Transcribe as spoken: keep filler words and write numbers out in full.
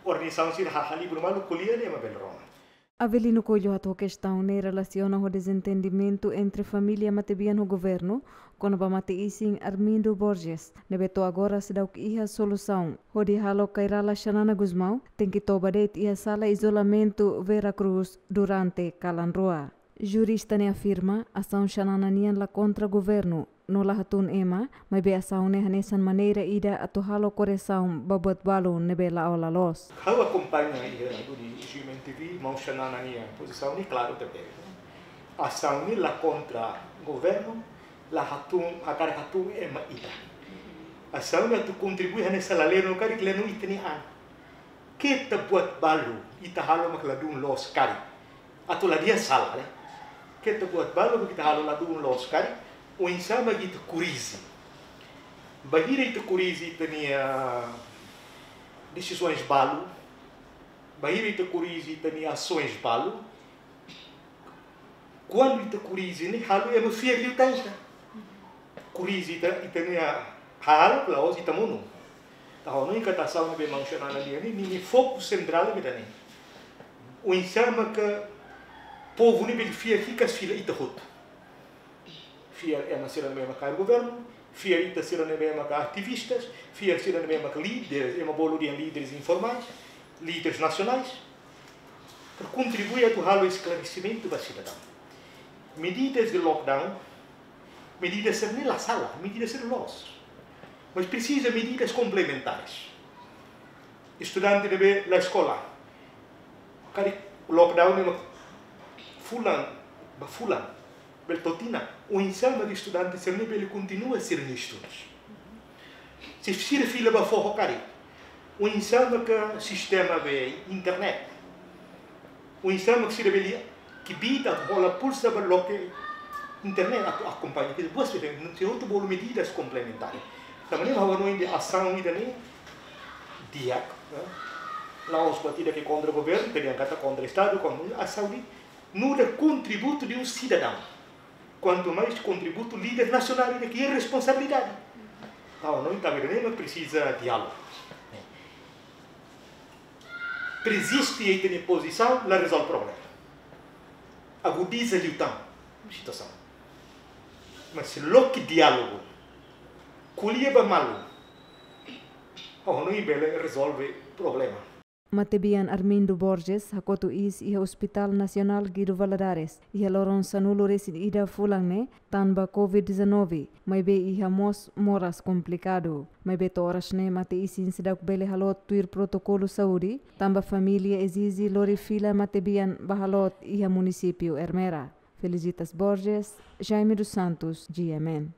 Organizasaun sira hahali bulu malu ko'alia ne'e ema bele rona. Avelino Coelho hato'o kestaun ne'e relasiona ho dezentendimentu entre família matebian ho governu, kona-ba mate-isin Armindo Borges, ne'ebé to'o agora seidauk iha solusaun, hodi halo Kay Rala Xanana Gusmão tenke toba de'it iha sala izolamentu Vera Cruz durante kalan rua. Jurista ne'e afirma, asaun Xanana nian la kontra governu, no la hatún ema, maibé asaun ne'e hanesan maneira ida atu halo korresaun ba buat balu ne'ebé la'o la loos. Ha'u akompaña iha duni G M N T V, maun Xanana nia pozisaun ne'e klaru tebes. Asaun ne'e la kontra governu, la hatún, hakarak hatún ema ida. Asaun ne'e atu kontribui hanesan lalenu karik lenu ita-nia an. Keta buat balu ita halo mak ladún loos karik. Atu la dehan sala, ne'e? Keta buat balu mak ita halo ladún loos karik, oinsá mak ita korrije. Bainhira ita korrije ita-nia desizaun balu, bainhira ita korrije ita-nia asaun balu, kuandu ita korrije ne'e halo ema fiar liután ita. Korrije ita, ita-nia hahalok la'ós ita monu. Entaun ha'u hanoin katak asaun ne'ebé maun Xanana nian ne'e, ninia foku sentrál ne'e mak ida-ne'e. Oinsá maka povu ne'e bele fiar hikas fila ita hotu. Fiar ema sira ne'ebé maka governu, fiar ita sira ne'ebé maka ativistas, fiar sira ne'ebé maka líderes, ema bolu dehan líderes informais, líderes nasionais, para kontribui atu halo esklaresimentu ba sidadaun. Medidas de lockdown, medidas sira ne'e la sala, medidas sira loos. Mas presiza medidas komplementares. Estudante ne'ebé la eskola, karik lockdown ne'e mak fulan ba fulan, bele to'o tinan, oinsá mak estudante sira ne'e bele kontinua sira-nia estudus. Se sira fila ba foho karik, oinsá maka sistema be internet, oinsá mak sira bele kbiit atu hola pulsa ba loke internet atu akompaña. Ke buas be, sira hotu bolu medidas komplementares. Tanba ne'e ha'u hanoin dehan asaun ida-ne'e di'ak, eh? La'ós buat ida ke kontra governu, ke dehan katak kontra estadu, kontra asaun ne'e nu'udar kontributu de um cidadão. Quanto mais kontributu líder nasionál ida ke iha responsabilidade. Entaun ha'u hanoin tanba ida-ne'e mak presiza diálogu. Persiste iha ita-nia pozisaun la rezolve problema. Agudiza liután situasaun. Mas se loke diálogu, ko'alia ba malu, ha'u hanoin bele rezolve problema. Matebian Armindo Borges hakotu iis iha Hospital Nasionál Guido Valadares iha loron sanulu-resin-ida fulan ne'e, tanba Covid dezanove, maibé iha mós moras komplikadu. Maibé to'o oras ne'e mate-isin seidauk bele haloot tuir protokolu saúde, tanba família ezije lori fila matebian ba haloot iha munisípiu Ermera. Felicitas Borges, Jaime dos Santos, G M N.